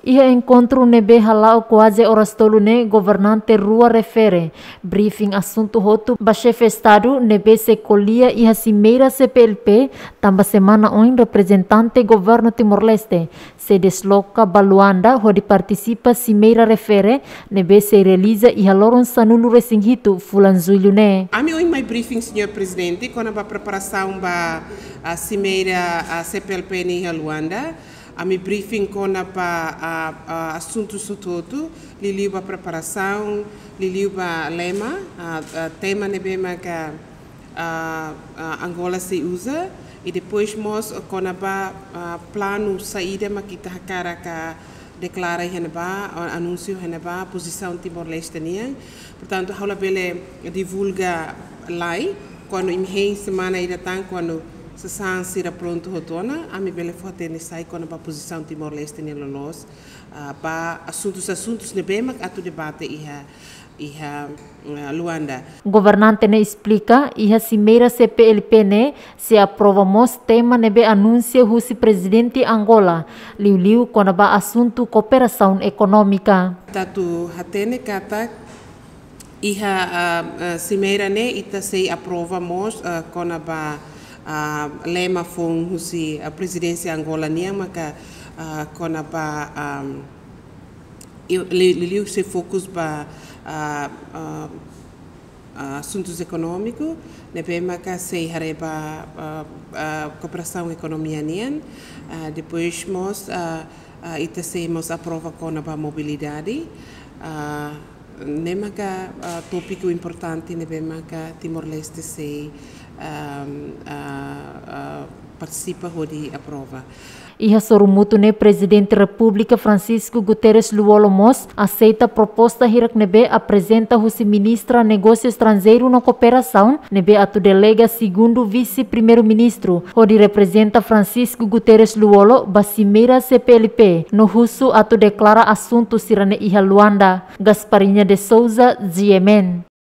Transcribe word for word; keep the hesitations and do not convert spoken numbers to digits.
Iha enkontru ne'ebé hala'o kuaze oras tolu ne'e, governante rua refere briefing asuntu hotu ba xefe Estadu ne'ebé sei ko'alia iha simeira C P L P, tanba semana oin reprezentante governu Timor-Leste sei desloka ba Luanda hodi partisipa simeira refere ne'ebé sei realiza iha loron sanulu-resin-hitu fulan Jullu ne'e. Ami ohin mai briefing, señór Prezidente, kona-ba preparasaun ba, ah, simeira, ah, C P L P nian iha Luanda. Ami briefing kona-ba, ah, ah, asuntu hotu-hotu, liuliu ba preparasaun, liuliu ba lema, ah, ah, tema ne'ebé maka, ah, ah, Angola sei uza, i depois mós kona-ba, ah, planu saida mak ita hakarak deklara iha ne'ebá, ah, anúnsiu iha ne'ebá, pozisaun Timor-Leste nian. Portantu, ha'u labele divulga lai, kuandu imi hein semana ida tan, kuandu sasán sira prontu hotu ona, ami bele fó-hatene sai kona-ba pozisaun Timor-Leste nian loloos, ah, ba asuntus-asuntus ne'ebé mak atu debate iha, iha, ah, Luanda. Governante ne'e esplika, iha simeira C P L P ne'e sei aprova mós tema ne'ebé anunsia husi Prezidente Angola, liuliu kona-ba asuntu kooperasaun ekonómika. Ita atu hatene katak iha, ah, ah, simeira ne'e ita sei aprova mós, ah, kona-ba, ah, lema foun husi, ah, Prezidénsia Angola nian maka, ah, kona-ba, ah, i, li-, liuliu sei fokus ba, ah, ah, ah, asuntus ekonómiku, ne'ebé maka sei haree ba, ah, ah, kooperasaun ekonomia nian, ah, depois mós, ah, ah, ita sei mós aprova kona-ba mobilidade, ah, ne'e maka, ah, tópiku importante ne'ebé maka Timor-Leste sei, ah, ah, ah, partisipa hodi aprova. Iha sorumutu ne'e, Prezidente Repúblika Francisco Guterres Lú-Olo mós aseita proposta hirak ne'ebé aprezenta husi Ministra Negósiu Estranjeiru no Kooperasaun, ne'ebé atu delega segundu Vise-Primeiru-Ministru hodi reprezenta Francisco Guterres Lú-Olo ba simeira C P L P, no husu atu deklara asuntu sira-ne'e iha Luanda. Gasparinha de Souza, G M N.